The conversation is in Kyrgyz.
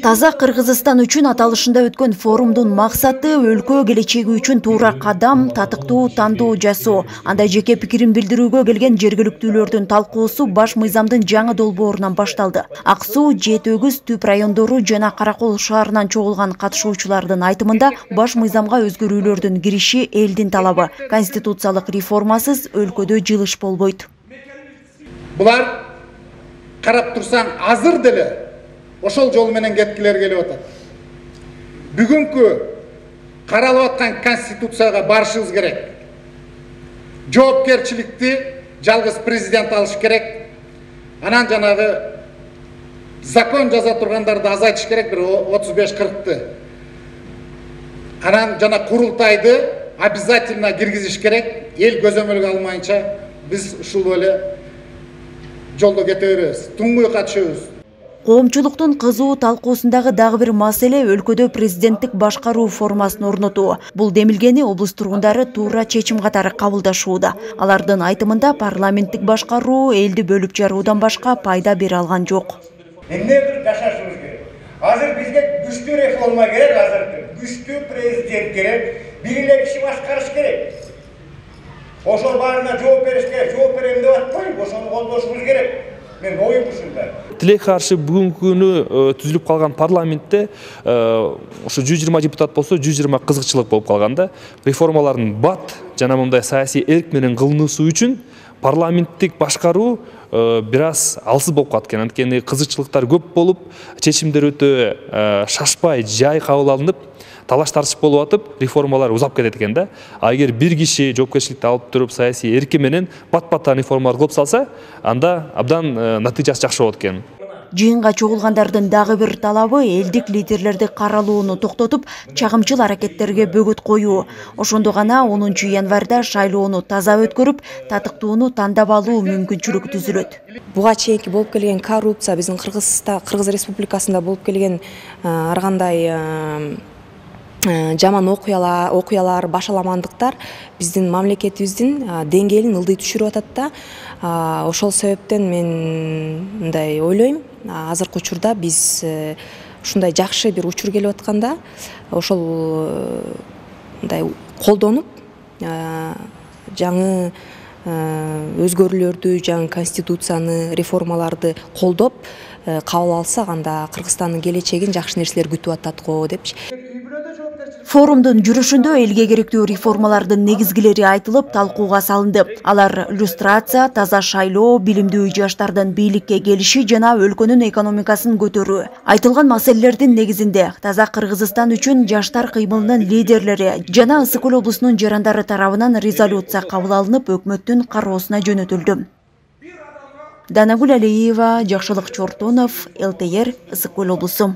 Таза Кыргызстан үчүн аталышында өткөн форумдун максаты өлкө келечеги үчүн туура кадам, татыктуу тандоо жасоо. Анда жеке пикирин билдирүүгө келген жергиликтүүлөрдүн талкуусу баш мыйзамдын жаңы долбоорунан башталды. Ак Суу, Жети Өгүз, Түп райондору жана Каракол шаарынан чогулган катышуучулардын айтымында баш мыйзамга өзгөрүүлөрдүн кириши элдин талабы. Конституциялык реформасыз өлкөдө жылыш болбойт. Булар карап турсаң азыр деле ошол жол менен кеткилер келип атат. Бүгүнкү каралып аткан конституцияга барышыбыз керек. Жоопкерчиликти жалгыз президент алыш керек. Анан жанагы закон жаза тургандарды азайтыш керек, бир 35-40ты. Анан жана курултайды обязательно киргизиш керек. Эл көзөмөлгө алмайынча биз ушул эле жолдо кете беребиз. Туңгуй катышабыз. Коомчулуктун кызуу талкуусундагы дагы бир маселе өлкөдө президенттик башкаруу формасын орнотуу. Бул демилгени облус тургундары туура чечим катары кабылдашууда. Алардын айтымында парламенттик башкаруу элди бөлүп жаруудан башка пайда бере алган жок. Эмне бир жашашыбыз керек. Азыр бизге күчтүү реформа керек, азыр күчтүү президент керек, бир эле киши башкарыш керек. Ошол баарына жооп бериш керек, жооп берем деп атпайбы, ошону колдошубуз керек. Мен оюм ушундай. Тилек каршы бүгүнкү күнү түзүлүп калган парламентте ошо 120 депутат болсо 120 кызыкчылык болуп калган да. Реформалардын бат жана мындай саясий эрк менен кылынуусу үчүн парламенттик башкаруу бир аз алсыз болуп калат экен. Анткени кызыкчылыктар көп болуп, чечимдер өтө шашпай, жай кабыл алынып, талаш тартыш болуп атып, реформалар узап кетет экен да. А эгер бир киши жоопкерчиликти алып туруп, саясий эрки менен бат-баттан реформалар кылып салса, анда абдан натыйжасы жакшы болот экен. Жыйынга чогулгандардын дагы бир талабы элдик лидерлерди каралууну токтотуп, чагымчыл аракеттерге бөгөт коюу. Ошондо гана 10 январда шайлоону таза өткөрүп, татыктууну тандап алуу мүмкүнчүлүгү түзүлөт. Буга чейинки болуп келген коррупция биздин Кыргыз Республикасында болуп келген ар кандай жаман окуялар, башаламандыктар биздин мамлекетибиздин деңгээлин ылдый түшүрүп атат да. Ошол себептен мен мындай ойлойм, азыркы учурда биз ушундай жакшы бир учур келип атканда, ошол мындай колдонуп, жаңы өзгөрүүлөрдү, жаңы конституцияны, реформаларды колдоп кабыл алсак, анда Кыргызстандын келечегин жакшы нерселер күтүп атат го депчи. Форумдун жүрүшүндө элге керектүү реформалардын негизгилери айтылып, талкууга салынды. Алар иллюстрация, таза шайлоо, билимдүү жаштардын бийликке келиши жана өлкөнүн экономикасын көтөрүү. Айтылган маселелердин негизинде таза Кыргызстан үчүн жаштар кыймылынын лидерлери жана Ысык Көл облусунун жарандары тарабынан резолюция кабыл алынып, өкмөттүн кароосуна жөнөтүлдү. Данагүл Алиева, Жакшылык Чортонов, ЛТР, Ысык Көл облусу.